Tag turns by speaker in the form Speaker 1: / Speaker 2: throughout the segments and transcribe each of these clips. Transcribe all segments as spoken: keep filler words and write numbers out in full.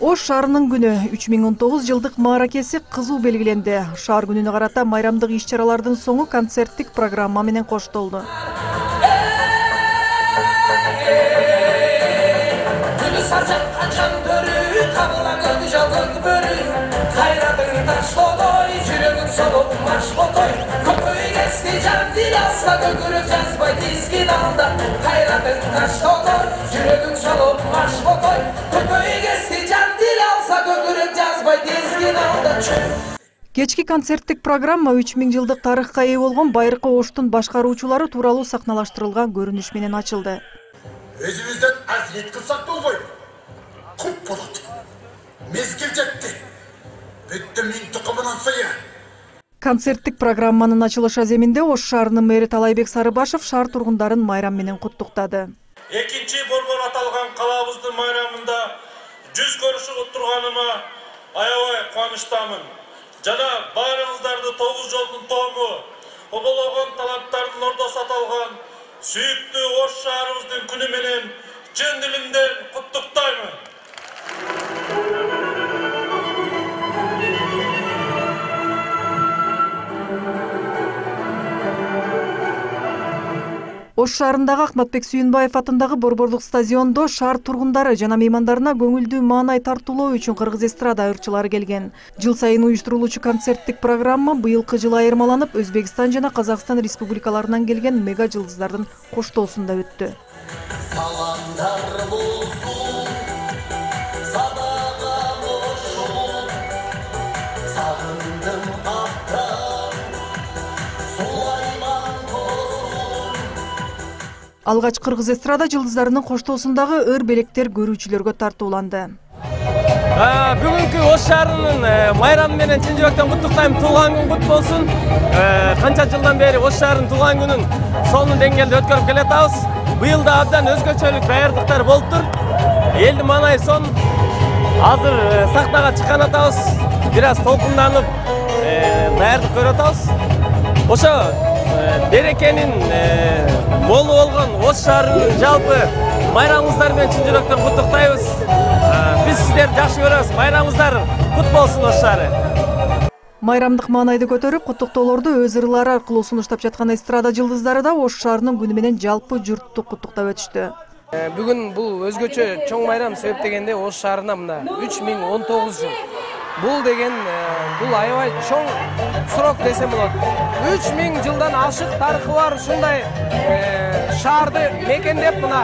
Speaker 1: Ош шаарынын күнү үч миң он тогуз жылдык мааракеси кызуу белгиленди. Шаар күнүнө карата майрамдык иш-чаралардын соңу концерттик программа менен коштолду. Кечки концерттик программа үч миң жылдык тарыхка ээ болгон байыркы Оштун башкаруучулары тууралуу сахналаштырылган көрүнүш менен ачылды.
Speaker 2: Өзүбүздөн азиет кылсак болбойбу? Куп болот. Мезгил жетти. Бүттү миң тукумунун сыйы.
Speaker 1: Концерттик программанын ачылыш аземинде Ош шаарынын мэри Талайбек Сарыбашев шаар тургундарын майрам менен куттуктады.
Speaker 3: Экинчи борбор аталган калабыздын майрамында жүз көрүшүп турганыма аябай кубанычтамын. Жана баарыңыздарды тогуз жолдун тому, обологон таланттардын ордосу аталган сүйүктүү Ош шаарыбыздын күнү менен чын дилимден куттуктаймын.
Speaker 1: Ош шаарындагы Ахматбек Сүйүнбаев атындагы борборлук стадиондо шаар тургундары жана меймандарына көңүлдүү маанай тартуулоо үчүн кыргыз эстрада ырчылары келген. Жыл сайын уюштурулуучу концерттик программа быйылкы жылы айырмаланып, Өзбекстан жана Казакстан республикаларынан келген мега жылдыздардын коштоосунда өттү. Алгач кыргыз эстрада жылдыздарынын коштоосундагы өр белектер көрүүчүлөргө тартууланды.
Speaker 4: Бүгүнкү Ош шаарынын майрамы менен чын жүрөктөн куттуктайм. Туулган күн кут болсун. Канча жылдан бери Ош шаарынын туулган күнүн сонун деңгээлде өткөрүп келатабыз. Быйыл да абдан өзгөчөлүк даярдыктар болуптур. Элдин маанайы сонун. Азыр сахнага чыккан атабыз. Бир аз толкунданып даярдык көрүп атабыз. Ошо берекенин молу болгон Ош шаарынын жалпы майрамыңыздар менен чын жүрөктөн куттуктайбыз. Биз сиздерди жакшы көрөбүз. Майрамыңыздар кут болсун Ош шаары.
Speaker 1: Майрамдык маанайды көтөрүп, куттуктоолорду өз ырлары аркылуу сунуштап жаткан эстрада жылдыздары да Ош шаарынын күнү менен жалпы журтту куттуктап өтүштү.
Speaker 5: Бүгүн бул өзгөчө чоң майрам себеп дегенде Ош шаарында мына үч миң он тогуз жыл. Бул деген бул аябай чоң срок десем болот. үч миң жылдан ашык тарыхы бар ушундай шаарды мекендеп мына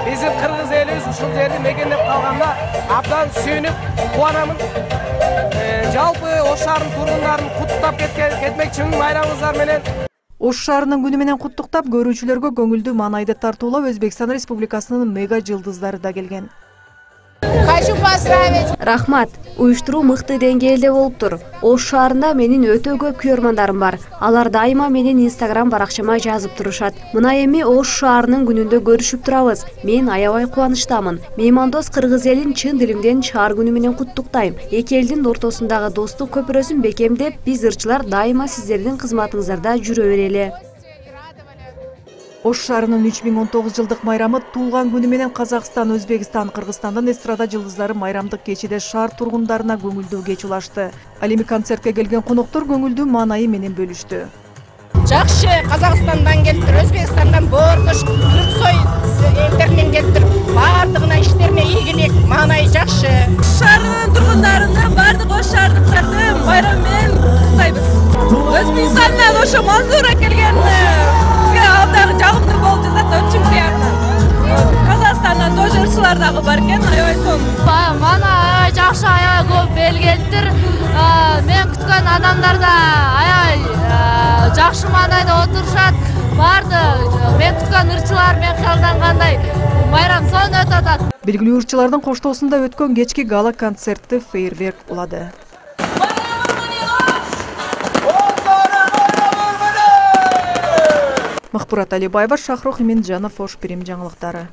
Speaker 5: биздин кыргыз элибиз ушул жерди мекендеп калганда абдан сүйүнүп кубанамын. Жалпы Ош шаарынын тургундарын куттуктап кетмекчимин майрамыңыздар менен.
Speaker 1: Ош шаарынын күнү менен куттуктап көрүүчүлөргө көңүлдүү маанайды тартуулап Өзбекстан Республикасынын мега жылдыздары да келген.
Speaker 6: Рахмат, уюштуруу мыкты деңгээлде болуптур. Ош шаарында менин өтө көп күйөрмандарым бар. Алар дайыма менин Инстаграм баракчама жазып турушат. Мына эми Ош шаарынын күнүндө көрүшүп турабыз. Мен аябай кубанычтамын. Меймандос кыргыз элин чын дилимден шаар күнү менен куттуктайм. Эки элдин ортосундагы достук көпүрөсүн бекемдеп, биз ырчылар дайыма сиздердин кызматыңыздарда жүрө берели.
Speaker 1: Ош шаарынын үч миң он тогуз жылдык майрамы туулган күнү менен Казакстан, Өзбекстан, Кыргызстандын эстрада жылдыздары майрамдык кечиде шаар тургундарына көңүлдүү кеч улашты. Ал эми концертке келген коноктор көңүлдүү маанайы менен бөлүштү.
Speaker 7: Жакшы, Казакстандан келиптир, Өзбекстандан, Бордош, Түрксой элдеринен келиптир. Бардыгына иштерине ийгилик, маанайы жакшы.
Speaker 8: Шаарынын тургундарына бардык Ош шаардыктарды майрам менен куттуктайбыз. Өзбекстандан ошо Мансура келген абдан жагымдуу болуп жатат, очень приятно. Казакстандан тоже ырчылар дагы бар экен, аябай сонун.
Speaker 9: Мана аябай жакшы, аябай көп эл келиптир. Мен күткөн адамдар да аябай жакшы маанайда отурушат. Барды мен күткөн ырчылар мен кыялдангандай майрам сонун өтүп атат.
Speaker 1: Белгилүү ырчылардын коштоосунда өткөн кечки гала концерти фейерверк улады. Махпурат Алибаева, Шахрох Иминджанов, Ош Пирим жаңылыктары.